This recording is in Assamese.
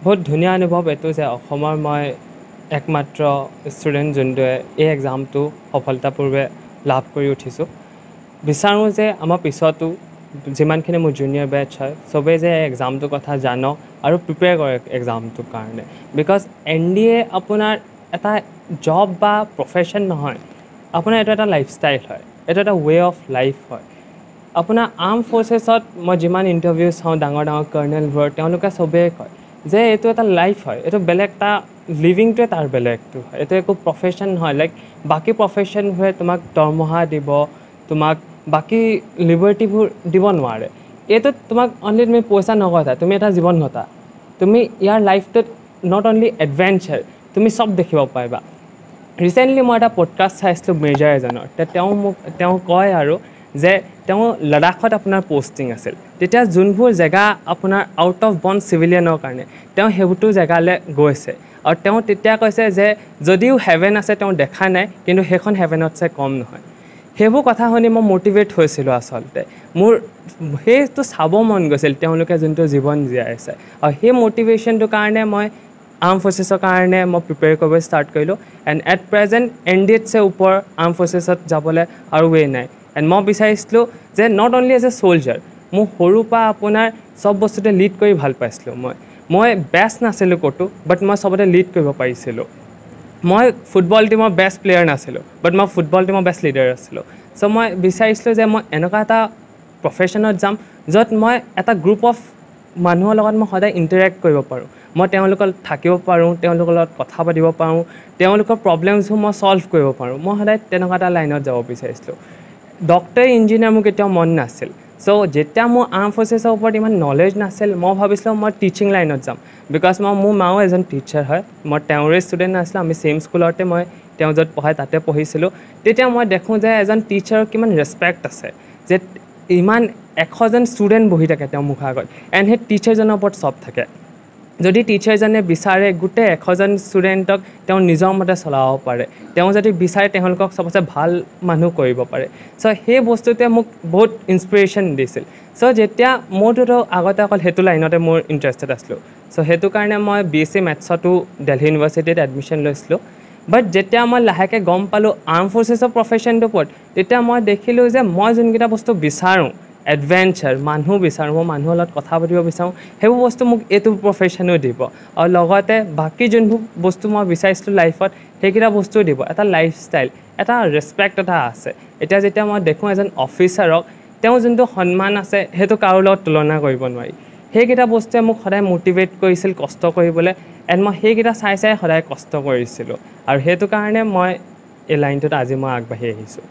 বহুত ধুনীয়া অনুভৱ এইটো যে অসমৰ মই একমাত্ৰ ষ্টুডেণ্ট যোনটোৱে এই এক্সামটো সফলতাপূৰ্বে লাভ কৰি উঠিছোঁ। বিচাৰোঁ যে আমাৰ পিছতো যিমানখিনি মোৰ জুনিয়ৰ বেটছ হয়, চবেই যে এই এক্সামটোৰ কথা জানক আৰু প্ৰিপেয়াৰ কৰে এক্সামটোৰ কাৰণে, because NDA আপোনাৰ এটা জব বা প্ৰফেশ্যন নহয়, আপোনাৰ এইটো এটা লাইফষ্টাইল হয়, এইটো এটা ৱে অফ লাইফ হয়। আপোনাৰ আৰ্ম ফ'ৰ্চেছত মই যিমান ইণ্টাৰভিউ চাওঁ ডাঙৰ ডাঙৰ কৰ্ণেলবোৰৰ, তেওঁলোকে চবেই কয় যে এইটো এটা লাইফ হয়, এইটো বেলেগ এটা লিভিংটোৱে তাৰ বেলেগটো হয়, এইটো একো প্ৰফেশ্যন নহয়। লাইক বাকী প্ৰফেশ্যনবোৰে তোমাক দৰমহা দিব, তোমাক বাকী লিবাৰ্টিবোৰ দিব নোৱাৰে। এইটোত তোমাক অনলি তুমি পইচা নঘটা, তুমি এটা জীৱন ঘটা। তুমি ইয়াৰ লাইফটোত not only adventure, তুমি চব দেখিব পাৰিবা। ৰিচেণ্টলি মই এটা পডকাষ্ট চাইছিলোঁ মেজৰ এজনৰ, তেওঁ মোক তেওঁ কয় আৰু যে তেওঁ লাডাখত আপোনাৰ পষ্টিং আছিল, তেতিয়া যোনবোৰ জেগা আপোনাৰ আউট অফ বণ্ড চিভিলিয়ানৰ কাৰণে, তেওঁ সেইবোৰতো জেগালৈ গৈছে। আৰু তেওঁ তেতিয়া কৈছে যে যদিও হেভেন আছে তেওঁ দেখা নাই, কিন্তু সেইখন হেভেনতছে কম নহয়। সেইবোৰ কথা শুনি মই মটিভেট হৈছিলোঁ। আচলতে মোৰ সেইটো চাব মন গৈছিল তেওঁলোকে যোনটো জীৱন জীয়াই আছে, আৰু সেই মটিভেশ্যনটোৰ কাৰণে মই আৰ্ম ফ'ৰ্চেছৰ কাৰণে মই প্ৰিপেয়াৰ কৰিব ষ্টাৰ্ট কৰিলোঁ। এণ্ড এট প্ৰেজেণ্ট এনডিএতছে ওপৰ আৰ্ম ফ'ৰ্চেছত যাবলৈ আৰু ৱে নাই। এণ্ড মই বিচাৰিছিলোঁ যে not only as a soldier, মোৰ সৰুৰ পৰা আপোনাৰ চব বস্তুতে লিড কৰি ভাল পাইছিলোঁ। মই বেষ্ট নাছিলোঁ ক'তো, বাট মই চবতে লিড কৰিব পাৰিছিলোঁ। মই ফুটবল টীমৰ বেষ্ট প্লেয়াৰ নাছিলোঁ, বাট মই ফুটবল টীমৰ বেষ্ট লিডাৰ আছিলোঁ। চ' মই বিচাৰিছিলোঁ যে মই এনেকুৱা এটা প্ৰফেশ্যনত যাম য'ত মই এটা গ্ৰুপ অফ মানুহৰ লগত মই সদায় ইণ্টাৰেক্ট কৰিব পাৰোঁ, মই তেওঁলোকৰ লগত থাকিব পাৰোঁ, তেওঁলোকৰ লগত কথা পাতিব পাৰোঁ, তেওঁলোকৰ প্ৰব্লেমছবোৰ মই ছল্ভ কৰিব পাৰোঁ। মই সদায় তেনেকুৱা এটা লাইনত যাব বিচাৰিছিলোঁ। ডক্টৰ, ইঞ্জিনিয়াৰ মোৰ কেতিয়াও মন নাছিল। চ' যেতিয়া মোৰ আৰ্ম ফ'ৰ্চেছৰ ওপৰত ইমান নলেজ নাছিল, মই ভাবিছিলোঁ মই টিচিং লাইনত যাম, because মোৰ মাও এজন টিচাৰ হয়, মই তেওঁৰে ষ্টুডেণ্ট আছিলোঁ, আমি ছেইম স্কুলতে মই তেওঁ য'ত পঢ়ায় তাতে পঢ়িছিলোঁ। তেতিয়া মই দেখোঁ যে এজন টিচাৰৰ কিমান ৰেচপেক্ট আছে, যে ইমান 100জন ষ্টুডেণ্ট বহি থাকে তেওঁৰ মুখৰ আগত, এণ্ড সেই টিচাৰজনৰ ওপৰত চব থাকে। যদি টিচাৰজনে বিচাৰে গোটেই 100জন ষ্টুডেণ্টক তেওঁ নিজৰ মতে চলাব পাৰে, তেওঁ যদি বিচাৰে তেওঁলোকক চবতছে ভাল মানুহ কৰিব পাৰে। চ' সেই বস্তুটোৱে মোক বহুত ইনস্পিৰেশ্যন দিছিল। চ' যেতিয়া মোৰটোতো আগতে অকল সেইটো লাইনতে মোৰ ইণ্টাৰেষ্টেড আছিলোঁ, চ' সেইটো কাৰণে মই বিএছচি মেথছতো দেলহি ইউনিভাৰ্চিটিত এডমিশ্যন লৈছিলোঁ। বাট যেতিয়া মই লাহেকৈ গম পালোঁ আৰ্ম ফ'ৰ্চেছৰ প্ৰফেশ্যনটোৰ ওপৰত, তেতিয়া মই দেখিলোঁ যে মই যোনকেইটা বস্তু বিচাৰোঁ, এডভেঞ্চাৰ, মানুহ বিচাৰোঁ, মই মানুহৰ লগত কথা পাতিব বিচাৰোঁ, সেইবোৰ বস্তু মোক এইটো প্ৰফেশ্যনেও দিব, আৰু লগতে বাকী যোনবোৰ বস্তু মই বিচাৰিছিলোঁ লাইফত সেইকেইটা বস্তুও দিব। এটা লাইফষ্টাইল, এটা ৰেচপেক্ট এটা আছে। এতিয়া যেতিয়া মই দেখোঁ এজন অফিচাৰক, তেওঁ যোনটো সন্মান আছে সেইটো কাৰো লগত তুলনা কৰিব নোৱাৰি। সেইকেইটা বস্তুৱে মোক সদায় মটিভেট কৰিছিল কষ্ট কৰিবলৈ, এণ্ড মই সেইকেইটা চাই চাই সদায় কষ্ট কৰিছিলোঁ, আৰু সেইটো কাৰণে মই এই লাইনটোত আজি মই আগবাঢ়ি আহিছোঁ।